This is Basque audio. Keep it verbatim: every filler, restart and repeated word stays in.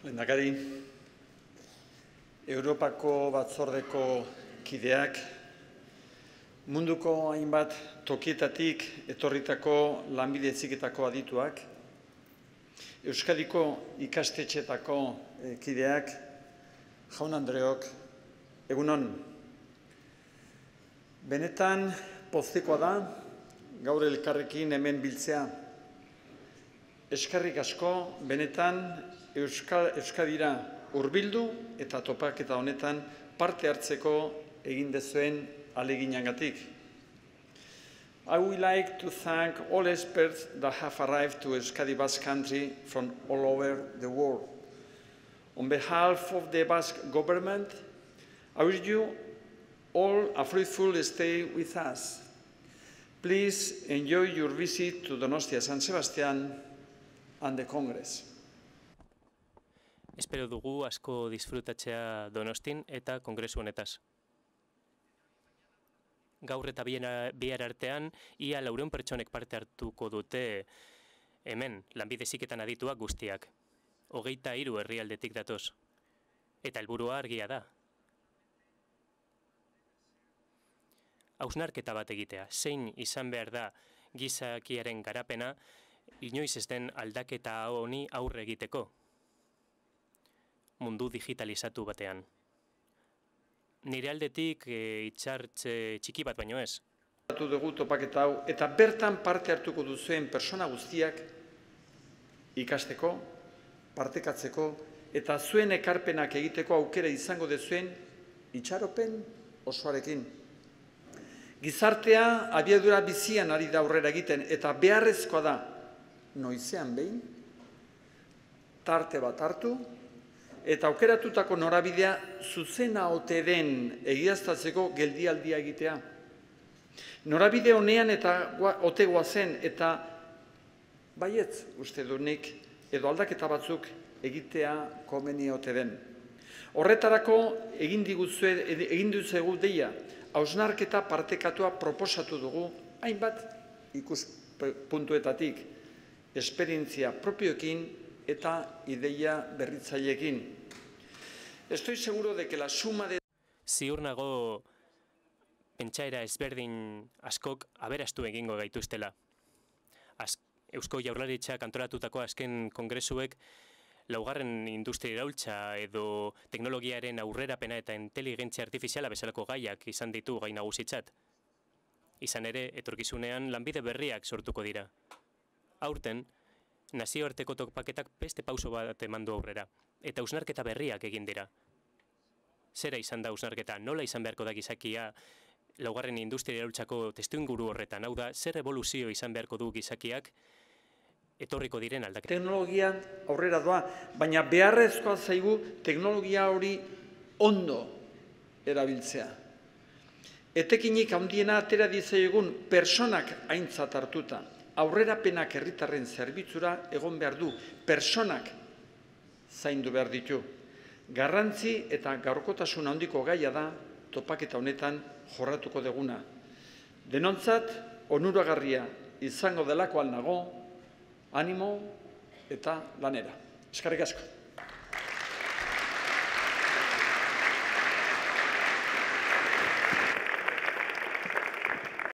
Lehendakari, Europako Batzordeko kideak, munduko hainbat tokietatik etorritako lanbide heziketako adituak, Euskadiko ikastetxeetako kideak, jaun-andreok, egunon. Benetan poztekoa da, gaur elkarrekin hemen biltzea. Eskerrik asko, benetan Euskadira hurbildu eta topaketa honetan parte hartzeko egin dezuen ahaleginagatik. I would like to thank all experts that have arrived to Euskadi Basque Country from all over the world. On behalf of the Basque government, I wish you all a fruitful stay with us. Please enjoy your visit to Donostia San Sebastian and the Congress. Espero dugu asko disfrutatzea Donostin eta kongresu honetaz. Gaur eta bihar artean, ia laurehun pertsonek parte hartuko dute hemen, lanbide heziketan adituak guztiak. Hogeita hiru herrialdetik datoz. Eta helburua argia da. Hausnarketa bat egitea, zein izan behar da gizakiaren garapena, inoiz ez den aldaketa honi aurre egiteko. Mundu digitalizatu batean. Nire aldetik e, itxartze txiki bat baino ez. Hartu dugu topaketa hau, eta bertan parte hartuko duzuen persona guztiak ikasteko, partekatzeko, eta zuen ekarpenak egiteko aukera izango dezuen itxaropen osoarekin. Gizartea abiadura bizian ari da aurrera egiten, eta beharrezkoa da, noizean behin, tarte bat hartu, eta aukeratutako norabidea zuzena ote den egiaztatzeko geldialdia egitea. Norabide honean eta ote goazen eta baietz uste du nik edo aldaketa batzuk egitea komeni ote den. Horretarako egin diguzue, egin duzegu deia, hausnarketa partekatua proposatu dugu hainbat ikuspuntuetatik, esperientzia propioekin eta ideia berritzaileekin. Estoy seguro de que la suma de... Ziur nago pentsaera ezberdin askok aberastu egingo gaituztela. Az, Eusko Jaurlaritzak antolatutako azken kongresuek laugarren industria iraultza edo teknologiaren aurrerapena eta inteligentzia artifiziala bezalako gaiak izan ditu gai nagusitzat. Izan ere, etorkizunean lanbide berriak sortuko dira. Aurten, nazioarteko topaketak beste pauso bat emandu aurrera, eta hausnarketa berriak egin dira. Zera izan da hausnarketa, nola izan beharko da gizakia laugarren industria iraultzako testuinguru horretan, hau da, zer evoluzio izan beharko du gizakiak etorriko diren aldaketa. Teknologia aurrera doa, baina beharrezkoa zaigu teknologia hori ondo erabiltzea. Etekinik handiena atera dizaiegun personak aintzat hartuta. Aurrerapenak herritarren zerbitzura egon behar du, personak zaindu behar ditu. Garrantzi eta gaurkotasun handiko gaia da topaketa honetan jorratuko deguna. Denontzat, onuragarria izango delakoan nago, animo eta lanera. Eskerrik asko.